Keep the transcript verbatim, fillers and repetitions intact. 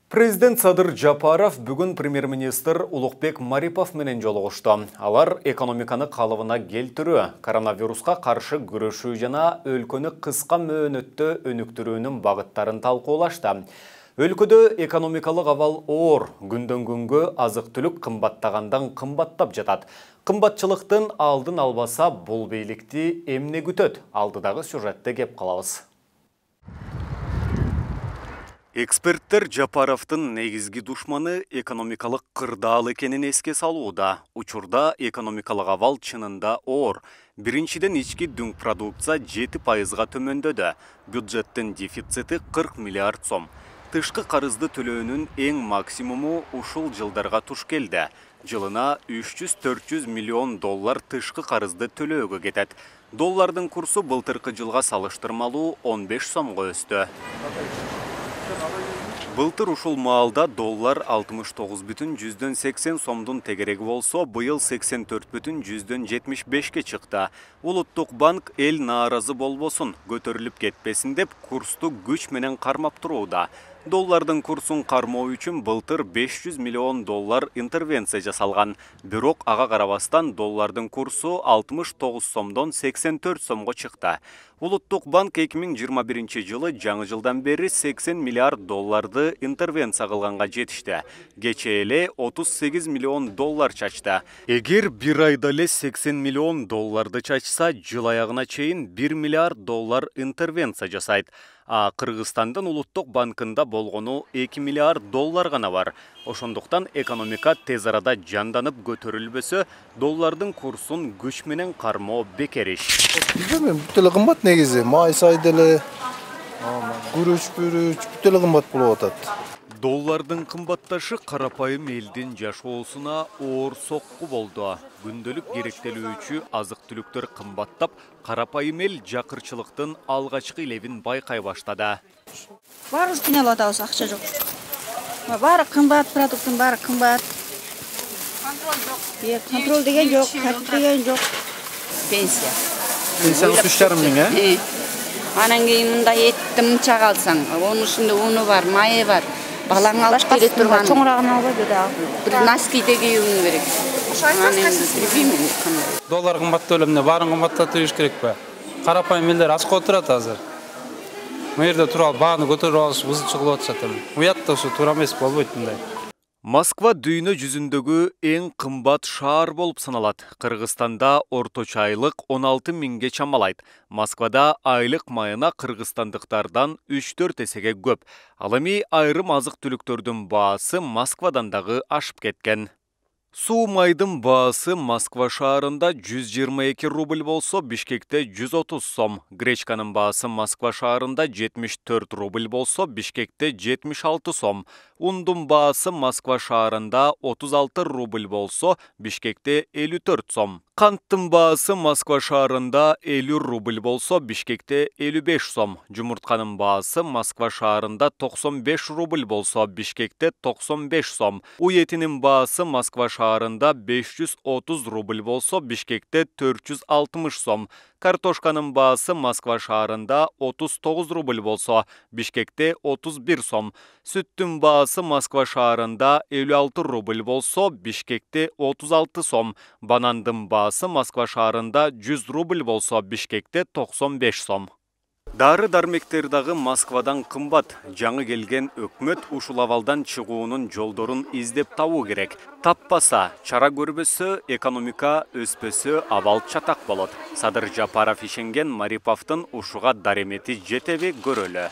Президент Садыр Жапаров бүгін премьер-министр Улукбек Марипов менен жолугушту. Алар экономиканы калыбына келтирүү, коронавируска каршы күрөшүү жана өлкөнү кыска мөөнөттө өнүктүрүүнүн багыттарын талкуулашты. Өлкөдө экономикалык абал оор, күндөн күнгө азык-түлүк кымбаттагандан кымбаттап жатат. Кымбатчылыктын алдын албаса, бул бийликти эмне күтөт? Алдыдагы сюжетте кеп калабыз. Эксперттер Жапаровдун негизги душманы экономикалык кырдаал экенин эске салууда. Учурда экономикалык абал чынында оор. Биринчиден ички дүң продукция жети пайызга төмөндөдү. Бюджеттин дефицити кырк миллиард сом. Тышкы карызды төлөөнүн эң максимуму ушул жылдарга туш келди. Жылына үч жүз төрт жүз миллион доллар тышкы карызды төлөөгө кетет. Доллардын курсу былтыркы жылга салыштырмалуу он беш сомго өстү. Былтыр ушул маалда доллар алтымыш тогуз бүтүн жүздөн сексен сомдун тегереги болсо, быйыл сексен төрт бүтүн жүздөн жетимиш бешке чыкты. Улуттук банк эл нааразы болбосун, көтөрүлүп кетпесин деп курсту күч менен кармап турууда. Доллардын курсун кармоо үчүн былтыр беш жүз миллион доллар интервенция жасалган. Бирок ага карабастан доллардын курсу алтымыш тогуз сомдон сексен төрт сомго чыкты. Улуттук банк эки миң жыйырма биринчи жылы жаңы жылдан бери сексен миллиард долларды интервенция кылганга жетишти. Кечээ эле отуз сегиз миллион доллар чачты. Эгер бир айда эле сексен миллион долларды чачса, жыл аягына чейин бир миллиард доллар интервенция жасайт. А Кыргызстандын улуттук банкында болгону эки миллиард доллар гана бар. Ошондуктан экономика тез арада жанданып көтөрүлбөсө, доллардын курсун күч менен кармоо бекер иш. Бизде бүт эле кымбат негизи, май сай деле, күрүч, бүрүч бүт эле кымбат болуп атат. Доллардын кымбатташы карапайым элдин жашоосуна оор сокку болду. Күндөлүк керектелүүчү азык-түлүктөр кымбаттап, карапайым эл жакырчылыктын алгачкы илебин байкай баштады. Баарыбыз кыйналып атабыз, акча жок. Баары кымбат, продукттун баары кымбат. Контроль жок. Контроль деген жок, тартип деген жок. Пенсия. Пенсияңыз үч жарым миң, э? Анан кийин мында этти мынча калсаң, онун ичинде уну бар, майы бар. Балаң алып бере турган. Чоңурагын албай бере. Бир носки да кийүүң керек. Доллар кымбаттоо эле, эмне баарын кымбаттатып ийиш керек бе? Карапайым элдер ачка отурат азыр. Бу жерде туруп алып бааны көтөрүп алыш узучу кылып атышат эми. Уят да ушу туура эмес, болбойт мындай. Москва дүйнө жүзүндөгү эң кымбат шаар болуп саналат. Кыргызстанда орточо айлык он алты миңге чамалайт. Москвада айлык майына кыргызстандыктардан үч төрт эсеге көп. Ал эми айрым азык-түлүктөрдүн баасы Москвадан дагы ашып кеткен. Суу майдын баасы Москва шаарында жүз жыйырма эки рубль болсо, Бишкекте жүз отуз сом. Гречканын баасы Москва шаарында жетимиш төрт рубль болсо, Бишкекте жетимиш алты сом. Ундун баасы Москва шаарында отуз алты рубль болсо, Бишкекте элүү төрт сом. Канттын баасы Москва шаарында элүү рубль болсо, Бишкекте элүү беш сом. Жумуртканын баасы Москва шаарында токсон беш рубль болсо, Бишкекте токсон беш сом. Уй этинин баасы Москва шаарында беш жүз отуз рубль болсо, Бишкекте төрт жүз алтымыш сом. Картошканын баасы Москва шаарында отуз тогуз рубль болсо, Бишкекте отуз бир сом. Сүттүн баасы Москва шаарында элүү алты рубль болсо, Бишкекте отуз алты сом. Банандын баасы Москва шаарында жүз рубль болсо, Бишкекте токсон беш сом. Дары дармектер дагы Москвадан кымбат. Жаңы келген өкмөт ушул абалдан чыгуунун жолдорун издеп табуу керек. Таппаса, чара көрбөсө, экономика өспөсө, абал чатак болот. Садыр Жапаров ишенген Мариповдун ушуга даремети жетеби көрөлү.